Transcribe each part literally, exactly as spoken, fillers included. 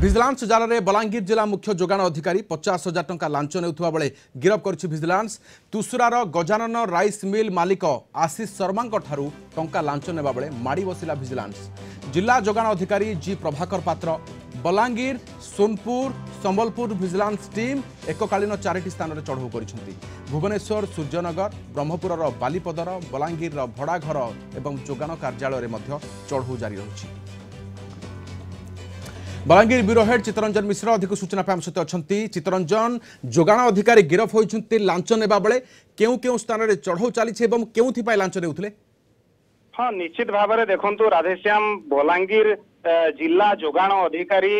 Vigilance ଜାଲରେ ବଲାଙ୍ଗୀର ଜିଲ୍ଲା ମୁଖ୍ୟ ଯୋଗାଣ ଅଧିକାରୀ ପଚାଶ ହଜାର ଟଙ୍କା ଲାଞ୍ଚ ନେଉଥିବା ବେଳେ ଗିରଫ କରିଛି ଭିଜିଲାନ୍ସ। ତୁସୁରାର ଗଜାନନ ରାଇସ୍ ମିଲ୍ ମାଲିକ ଆଶିଷ ଶର୍ମାଙ୍କ ଠାରୁ ଟଙ୍କା ଲାଞ୍ଚ ନେବା ବେଳେ ମାଡ଼ି ବସିଲା ଭିଜିଲାନ୍ସ। ଜିଲ୍ଲା ଯୋଗାଣ ଅଧିକାରୀ ଜି ପ୍ରଭାକର ପାତ୍ର, ବଲାଙ୍ଗୀର, ସୋନପୁର, ସମ୍ବଲପୁର ଭିଜିଲାନ୍ସ ଟିମ୍ ଏକକାଳୀନ ଚାରିଟି ସ୍ଥାନରେ ଚଢ଼ଉ କରିଛନ୍ତି। ଭୁବନେଶ୍ୱର ସୂର୍ଯ୍ୟନଗର, ବ୍ରହ୍ମପୁରର ବାଲିପଦର, ବଲାଙ୍ଗୀରର ଭଡ଼ାଘର ଏବଂ ଯୋଗାଣ କାର୍ଯ୍ୟାଳୟରେ ମଧ୍ୟ ଚଢ଼ଉ ଜାରି ରହିଛି। ବଲାଙ୍ଗୀର ବ୍ୟୁରୋ ହେଡ୍ ଚିତ୍ତରଞ୍ଜନ ମିଶ୍ର ଅଧିକ ସୂଚନା ପାଇଁ ଆମ ସହିତ ଅଛନ୍ତି। ଚିତ୍ତରଞ୍ଜନ, ଯୋଗାଣ ଅଧିକାରୀ ଗିରଫ ହୋଇଛନ୍ତି ଲାଞ୍ଚ ନେବା ବେଳେ, କେଉଁ କେଉଁ ସ୍ଥାନରେ ଚଢ଼ଉ ଚାଲିଛି ଏବଂ କେଉଁଥିପାଇଁ ଲାଞ୍ଚ ନେଉଥିଲେ? ହଁ, ନିଶ୍ଚିତ ଭାବରେ ଦେଖନ୍ତୁ ରାଧେଶ୍ୟାମ, ବଲାଙ୍ଗୀର ଜିଲ୍ଲା ଯୋଗାଣ ଅଧିକାରୀ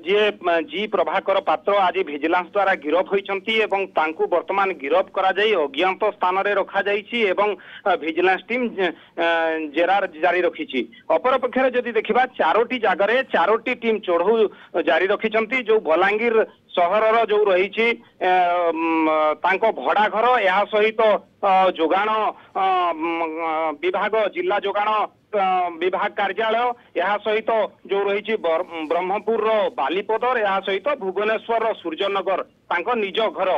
ଯିଏ ଜି ପ୍ରଭାକର ପାତ୍ର ଆଜି ଭିଜିଲାନ୍ସ ଦ୍ୱାରା ଗିରଫ ହୋଇଛନ୍ତି ଏବଂ ତାଙ୍କୁ ବର୍ତ୍ତମାନ ଗିରଫ କରାଯାଇ ଅଜ୍ଞାତ ସ୍ଥାନରେ ରଖାଯାଇଛି ଏବଂ ଭିଜିଲାନ୍ସ ଟିମ୍ ଜେରା ଜାରି ରଖିଛି। ଅପରପକ୍ଷରେ ଯଦି ଦେଖିବା, ଚାରୋଟି ଜାଗାରେ ଚାରୋଟି ଟିମ୍ ଚଢ଼ଉ ଜାରି ରଖିଛନ୍ତି। ଯୋଉ ବଲାଙ୍ଗୀର ସହରର ଯୋଉ ରହିଛି ତାଙ୍କ ଭଡା ଘର, ଏହା ସହିତ ଯୋଗାଣ ବିଭାଗ, ଜିଲ୍ଲା ଯୋଗାଣ ବିଭାଗ କାର୍ଯ୍ୟାଳୟ, ଏହା ସହିତ ଯୋଉ ରହିଛି ବ୍ରହ୍ମପୁରର ବାଲିପଦର, ଏହା ସହିତ ଭୁବନେଶ୍ୱରର ସୂର୍ଯ୍ୟନଗର ତାଙ୍କ ନିଜ ଘର,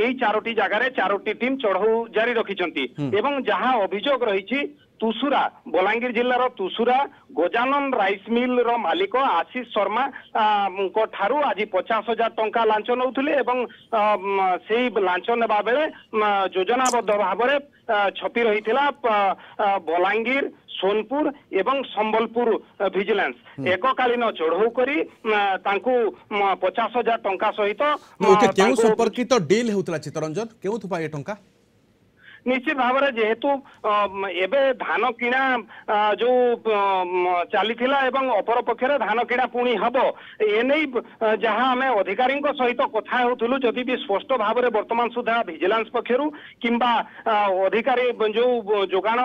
ଏଇ ଚାରୋଟି ଜାଗାରେ ଚାରୋଟି ଟିମ୍ ଚଢଉ ଜାରି ରଖିଛନ୍ତି। ଏବଂ ଯାହା ଅଭିଯୋଗ ରହିଛି, ତୁସୁରା, ବଲାଙ୍ଗୀର ଜିଲ୍ଲାର ତୁସୁରା ଗଜାନନ ରାଇସ୍ ମିଲ୍ର ମାଲିକ ଆଶିଷ ଶର୍ମାଙ୍କ ଠାରୁ ଆଜି ପଚାଶ ହଜାର ଟଙ୍କା ଲାଞ୍ଚ ନେଉଥିଲେ ଏବଂ ସେଇ ଲାଞ୍ଚ ନେବା ବେଳେ ଯୋଜନାବଦ୍ଧ ଭାବରେ ଛପି ରହିଥିଲା ବଲାଙ୍ଗୀର, ସୋନପୁର ଏବଂ ସମ୍ବଲପୁର ଭିଜିଲାନ୍ସ। ଏକକାଳୀନ ଚଢଉ କରି ତାଙ୍କୁ ପଚାଶ ହଜାର ଟଙ୍କା ସହିତ କେଉଁ ସମ୍ପର୍କିତ ଡିଲ୍ ହେଉଥିଲା ଚିତ୍ତରଞ୍ଜନ, କେଉଁଥିପାଇଁ ଏ ଟଙ୍କା? ନିଶ୍ଚିତ ଭାବରେ ଯେହେତୁ ଏବେ ଧାନ କିଣା ଯୋଉ ଚାଲିଥିଲା ଏବଂ ଅପରପକ୍ଷରେ ଧାନ କିଣା ପୁଣି ହବ, ଏନେଇ ଯାହା ଆମେ ଅଧିକାରୀଙ୍କ ସହିତ କଥା ହେଉଥିଲୁ, ଯଦି ବି ସ୍ପଷ୍ଟ ଭାବରେ ବର୍ତ୍ତମାନ ସୁଦ୍ଧା ଭିଜିଲାନ୍ସ ପକ୍ଷରୁ କିମ୍ବା ଅଧିକାରୀ ଯୋଉ ଯୋଗାଣ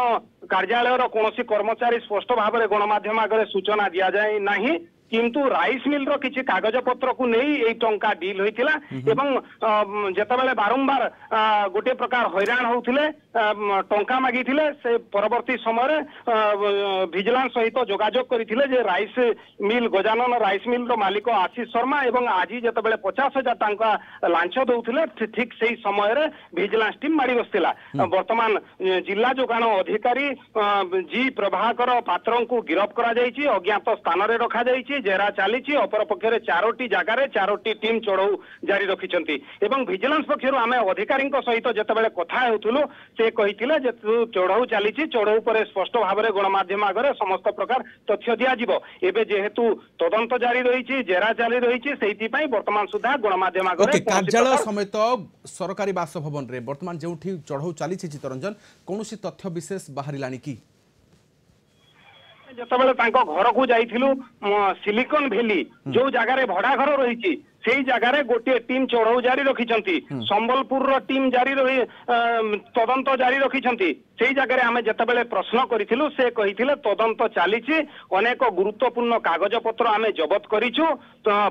କାର୍ଯ୍ୟାଳୟର କୌଣସି କର୍ମଚାରୀ ସ୍ପଷ୍ଟ ଭାବରେ ଗଣମାଧ୍ୟମ ଆଗରେ ସୂଚନା ଦିଆଯାଇ ନାହିଁ, କିନ୍ତୁ ରାଇସ୍ ମିଲ୍ର କିଛି କାଗଜ ପତ୍ରକୁ ନେଇ ଏଇ ଟଙ୍କା ଡିଲ୍ ହୋଇଥିଲା। ଏବଂ ଯେତେବେଳେ ବାରମ୍ବାର ଗୋଟିଏ ପ୍ରକାର ହଇରାଣ ହଉଥିଲେ, ଟଙ୍କା ମାଗିଥିଲେ, ସେ ପରବର୍ତ୍ତୀ ସମୟରେ ଭିଜିଲାନ୍ସ ସହିତ ଯୋଗାଯୋଗ କରିଥିଲେ ଯେ ରାଇସ୍ ମିଲ୍, ଗଜାନନ ରାଇସ୍ ମିଲ୍ର ମାଲିକ ଆଶିଷ ଶର୍ମା। ଏବଂ ଆଜି ଯେତେବେଳେ ପଚାଶ ହଜାର ଟଙ୍କା ଲାଞ୍ଚ ଦଉଥିଲେ, ଠିକ ସେଇ ସମୟରେ ଭିଜିଲାନ୍ସ ଟିମ୍ ମାଡ଼ି ବସିଥିଲା। ବର୍ତ୍ତମାନ ଜିଲ୍ଲା ଯୋଗାଣ ଅଧିକାରୀ ଜି ପ୍ରଭାକର ପାତ୍ରଙ୍କୁ ଗିରଫ କରାଯାଇଛି, ଅଜ୍ଞାତ ସ୍ଥାନରେ ରଖାଯାଇଛି, ଜେରା ଚାଲିଛି। ଅପରପକ୍ଷରେ ଚାରୋଟି ଜାଗାରେ ଚାରୋଟି ଟିମ୍ ଚଢଉ ଜାରି ରଖିଛନ୍ତି। ଏବଂ ଭିଜିଲାନ୍ସ ପକ୍ଷରୁ ଆମେ ଅଧିକାରୀଙ୍କ ସହିତ ଯେତେବେଳେ କଥା ହେଉଥିଲୁ, ସେ କହିଥିଲେ ଯେ ଚଢଉ ଚାଲିଛି, ଚଢଉ ପରେ ସ୍ପଷ୍ଟ ଭାବରେ ଗଣମାଧ୍ୟମ ଆଗରେ ସମସ୍ତ ପ୍ରକାର ତଥ୍ୟ ଦିଆଯିବ। ଏବେ ଯେହେତୁ ତଦନ୍ତ ଜାରି ରହିଛି, ଜେରା ଜାରି ରହିଛି, ସେଇଥିପାଇଁ ବର୍ତ୍ତମାନ ସୁଦ୍ଧା ଗଣମାଧ୍ୟମ ଆଗରେ କାର୍ଯ୍ୟାଳୟ ସମେତ ସରକାରୀ ବାସଭବନରେ ବର୍ତ୍ତମାନ ଯେଉଁଠି ଚଢଉ ଚାଲିଛି, ଚିତ୍ତରଞ୍ଜନ, କୌଣସି ତଥ୍ୟ ବିଶେଷ ବାହାରିଲାଣି କି? ଯେତେବେଳେ ତାଙ୍କ ଘରକୁ ଯାଇଥିଲୁ, ସିଲିକନ ଭ୍ୟାଲି ଯୋଉ ଜାଗାରେ ଭଡା ଘର ରହିଛି, ସେଇ ଜାଗାରେ ଗୋଟିଏ ଟିମ୍ ଚଢଉ ଜାରି ରଖିଛନ୍ତି। ସମ୍ବଲପୁରର ଟିମ୍ ଜାରି ରହି ତଦନ୍ତ ଜାରି ରଖିଛନ୍ତି। ସେଇ ଜାଗାରେ ଆମେ ଯେତେବେଳେ ପ୍ରଶ୍ନ କରିଥିଲୁ, ସେ କହିଥିଲେ ତଦନ୍ତ ଚାଲିଛି, ଅନେକ ଗୁରୁତ୍ୱପୂର୍ଣ୍ଣ କାଗଜପତ୍ର ଆମେ ଜବତ କରିଛୁ,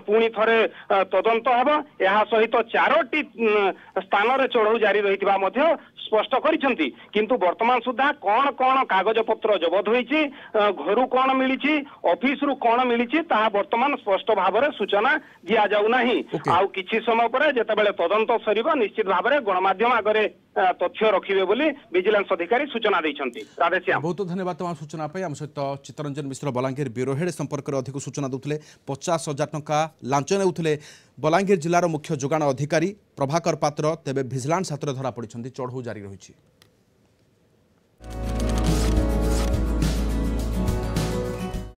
ପୁଣି ଥରେ ତଦନ୍ତ ହେବ। ଏହା ସହିତ ଚାରୋଟି ସ୍ଥାନରେ ଚଢଉ ଜାରି ରହିଥିବା ମଧ୍ୟ ସ୍ପଷ୍ଟ କରିଛନ୍ତି। କିନ୍ତୁ ବର୍ତ୍ତମାନ ସୁଦ୍ଧା କଣ କଣ କାଗଜପତ୍ର ଜବତ ହୋଇଛି, ଘରୁ କଣ ମିଳିଛି, ଅଫିସରୁ କଣ ମିଳିଛି, ତାହା ବର୍ତ୍ତମାନ ସ୍ପଷ୍ଟ ଭାବରେ ସୂଚନା ଦିଆଯାଉ ନାହିଁ। ଆଉ କିଛି ସମୟ ପରେ ଯେତେବେଳେ ତଦନ୍ତ ସରିବ, ନିଶ୍ଚିତ ଭାବରେ ଗଣମାଧ୍ୟମ ଆଗରେ ତଥ୍ୟ ରଖିବେ ବୋଲି ଭିଜିଲାନ୍ସ ଅଧିକାରୀ ସୂଚନା ଦେଇଛନ୍ତି। ରାଧେଶ୍ୟାମ, ବହୁତ ଧନ୍ୟବାଦ ତମ ସୂଚନା ପାଇଁ। ଆମ ସହିତ ଚିତ୍ତରଞ୍ଜନ ମିଶ୍ର ବଲାଙ୍ଗୀର ବ୍ୟୁରୋ ହେଡ୍ ସମ୍ପର୍କରେ ଅଧିକ ସୂଚନା ଦେଉଥିଲେ। ପଚାଶ ହଜାର ଟଙ୍କା ଲାଞ୍ଚ ନେଉଥିଲେ ବଲାଙ୍ଗୀର ଜିଲ୍ଲାର ମୁଖ୍ୟ ଯୋଗାଣ ଅଧିକାରୀ ପ୍ରଭାକର ପାତ୍ର, ତେବେ ଭିଜିଲାନ୍ସ ହାତରେ ଧରା ପଡ଼ିଛନ୍ତି, ଚଢ଼ଉ ଜାରି ରହିଛି।